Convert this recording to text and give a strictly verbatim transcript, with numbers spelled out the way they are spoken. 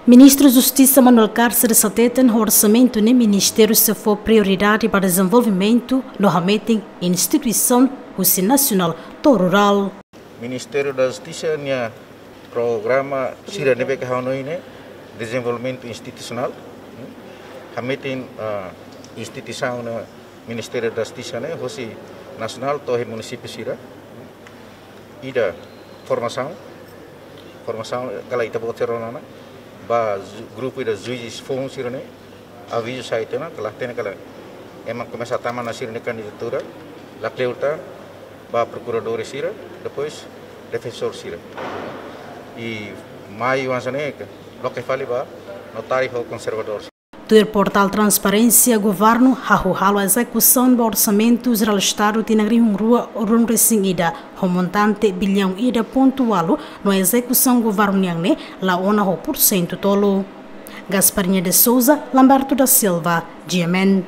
Ministru Justisa Manuel Carceres hateten, orsamentu ne'e ministériu sei fó prioridade ba dezenvolvimentu no hametin instituisaun husi nasionál to'o rurál. Ministério da Justiça nia programa sira ne'ebé ke hanoin ne'e dezenvolvimentu institusionál. Hametin, ah, instituisaun ne'e Ministério da Justiça ne'e, husi nasionál to'o munisípiu sira. Ida formasaun, formasaun kala ita-boot sira rona ona, ba ju-, grupu ida juízes foun sira-ne'e, avizu sai tiha ona, kala hatene kala ema komesa tama ona sira-nia kandidatura, lakleur tan ba prokuradór sira, depois defensór sira. I maiu hanesan ne'e, loke fali ba notáriu ho konservadór. Tuir portál Transparénsia, governu hahú halo ezekusaun ba Orsamentu Jerál Estadu tinan rihun rua ruanulu-resin-ida ho montante biliaun ida pontu ualu, no ezekusaun governu nian ne'e la ona ho pursentu tolu. Gasparinha de Souza, Lamberto da Silva, G M N.